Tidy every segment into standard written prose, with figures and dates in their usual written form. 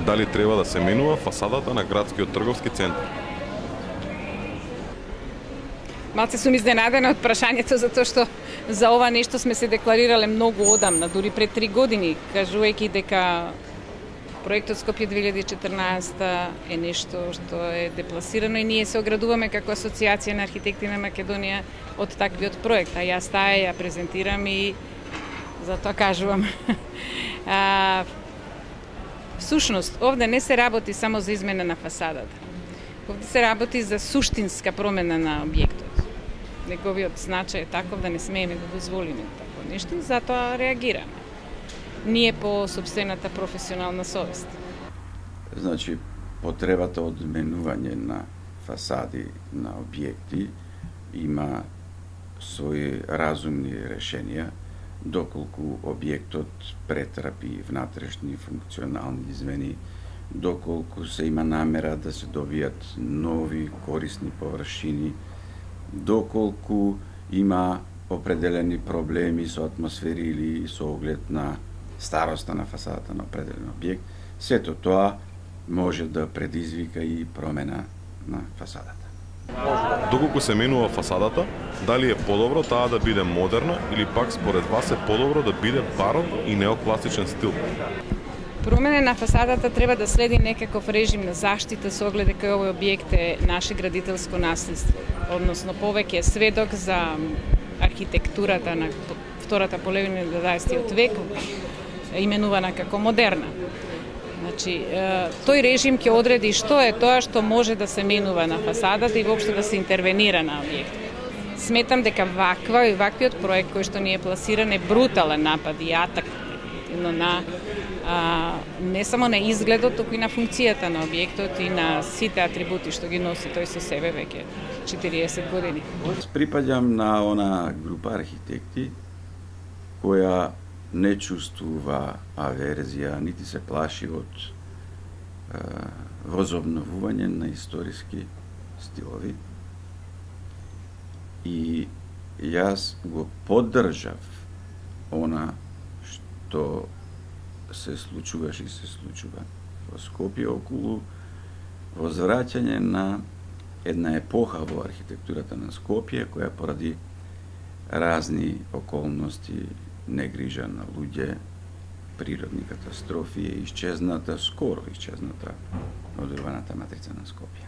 Дали треба да се менува фасадата на градскиот трговски центар? Малце сум изненадена од прашањето, затоа што за ова нешто сме се декларирале многу одамна, дури пред 3 години, кажувајќи дека проектот Скопје 2014 е нешто што е депласирано и ние се оградуваме како Асоциација на архитекти на Македонија од таквиот проект, а јас таа ја презентирам и затоа кажувам. Всушност, овде не се работи само за измена на фасадата. Овде се работи за суштинска промена на објектот. Неговиот значај е таков да не смееме да дозволиме такво нешто и затоа реагираме. Ние по собствената професионална совест. Значи, потребата од менување на фасади на објекти има своји разумни решенија, доколку објектот претрапи внатрешни функционални измени, доколку се има намера да се добијат нови корисни површини, доколку има определени проблеми со атмосфери или со оглед на староста на фасадата на определен објект, сето тоа може да предизвика и промена на фасадата. Доколку се менува фасадата, дали е подобро таа да биде модерна или пак според вас е подобро да биде барок и неокласичен стил? Промена на фасадата треба да следи некаков режим на заштита со оглед дека овој објект е наше градителско наследство, односно повеќе сведок за архитектурата на втората половина на 20 век, именувана како модерна. Значи, тој режим ќе одреди што е тоа што може да се менува на фасадата и воопшто да се интервенира на објект. Сметам дека ваквиот проект кој што ни е пласиран е брутален напад и атак на не само на изгледот, туку и на функцијата на објектот и на сите атрибути што ги носи тој со себе веќе 40 години. Припаѓам на она група архитекти која не чувствува аверзија, нити се плаши од возобновување на историски стилови. И јас го поддржав она што се случуваше и се случува во Скопје околу возвраќање на една епоха во архитектурата на Скопје, која поради разни околности, негрижа на луѓе, природни катастрофи е исчезната, скоро исчезната од урбаната матрица на Скопје.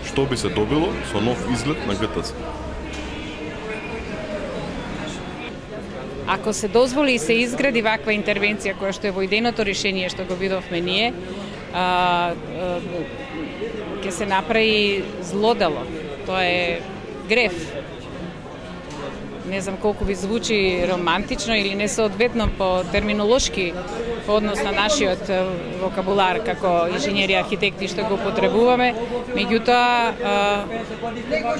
Што би се добило со нов изглед на ГТЦ? Ако се дозволи и се изгради ваква интервенција која што е во идејното решение што го видовме ние, ќе се направи злодело. Тоа е греф. Не знам колку ви звучи романтично или несоодветно по терминолошки по однос на нашиот вокабулар како инженери архитекти што го потребуваме, меѓутоа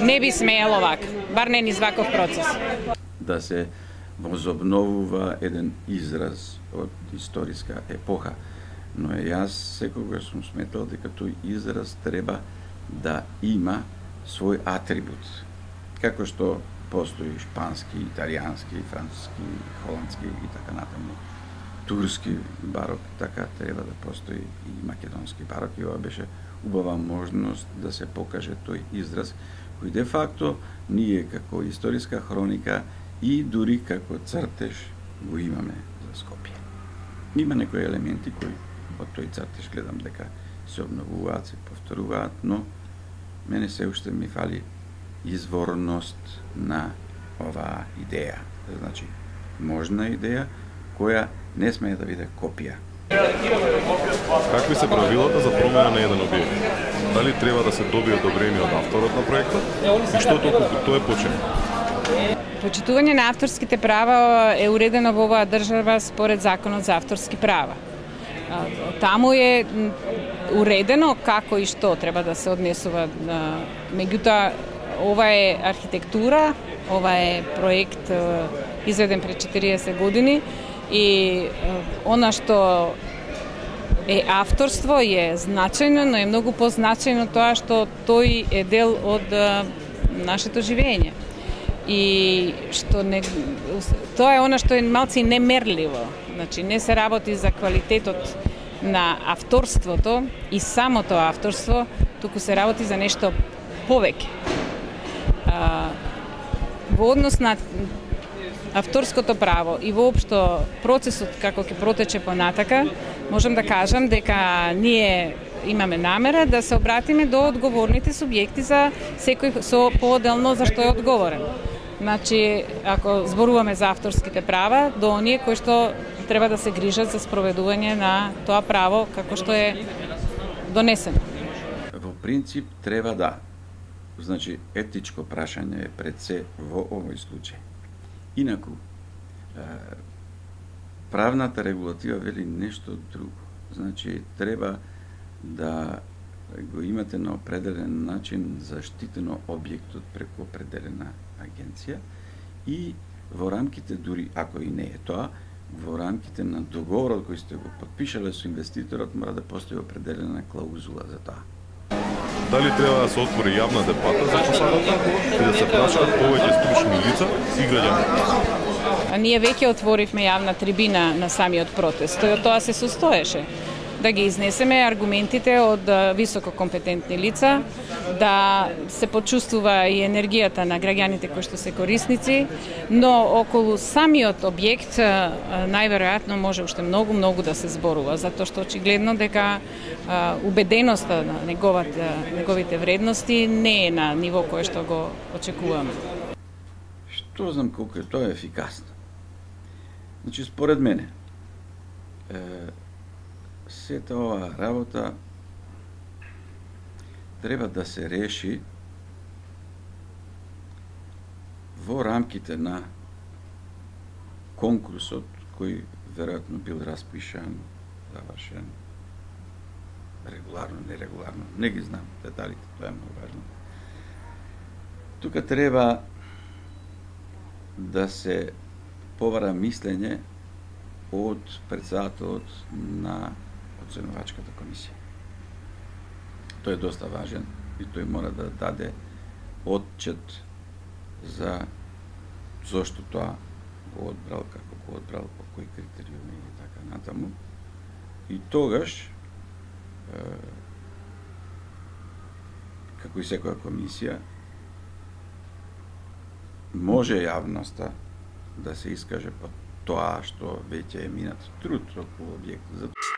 не би смеело вака, бар не низ ваков процес. Да се возобновува еден израз од историска епоха, но јас секогаш сум сметал дека тој израз треба да има свој атрибут. Како што постои шпански, италијански, француски, холандски и така натаму, турски барок, така треба да постои и македонски барок, и ова беше убава можност да се покаже тој израз кој де факто ние како историска хроника и дури како цртеж го имаме за Скопје. Има некои елементи кои од тој цртеж гледам дека се обновуваат, се повторуваат, но мене се уште ми фали изворност на оваа идеја. Значи, можна идеја која не смее да биде копија. Какви се правилата за промена на еден објект? Дали треба да се добие одобрение од авторот на проектот и што толку тоа е починено? Почитување на авторските права е уредено во оваа држава според Законот за авторски права. Таму е уредено како и што треба да се однесува. Меѓутоа, ова е архитектура, ова е проект изведен пред 40 години и она што е авторство е значајно, но е многу позначајно тоа што тој е дел од нашето живење. и што не, тоа е она што е малци немерливо. Значи не се работи за квалитетот на авторството и самото авторство, туку се работи за нешто повеќе. Во однос на авторското право и воопшто процесот како ќе протече понатака, можам да кажам дека ние имаме намера да се обратиме до одговорните субјекти за секој со поотделно за што е одговорен. Значи, ако зборуваме за авторските права, до оние кои што треба да се грижат за спроведување на тоа право како што е донесено. Во принцип треба да. Значи, етичко прашање е пред се во овој случај. Инаку, правната регулатива вели нешто друго. Значи, треба да го имате на определен начин заштитено објектот преку определена агенција и во рамките, дури ако и не е тоа, во рамките на договорот кој сте го подпишале со инвеститорот мора да постои определена клаузула за тоа. Дали треба да се отвори јавна дебата за фасадата и да се прашаат повеќе стручни лица и граѓани? Ние веќе отворивме јавна трибина на самиот протест. Тој од тоа се состоеше. Да ги изнесеме аргументите од високо компетентни лица, да се почувствува и енергијата на граѓаните кои што се корисници, но околу самиот објект најверојатно може уште многу да се зборува, затоа што очигледно дека убеденоста на неговите вредности не е на ниво кое што го очекуваме. Што знам колку е тоа ефикасно. Значи, според мене, сета оваа работа треба да се реши во рамките на конкурсот кој веројатно бил распишан, завршен, регуларно, нерегуларно, не ги знам деталите, тоа е многу важно. Тука треба да се повара мислење од председателот на оценувачката комисија. Тој е доста важен и тој мора да даде отчет за зошто тоа го одбрал, како го одбрал, по кои критериуми и така натаму. И тогаш, како и секоја комисија, може јавноста да се искаже по тоа што веќе е минат труд околу објектот.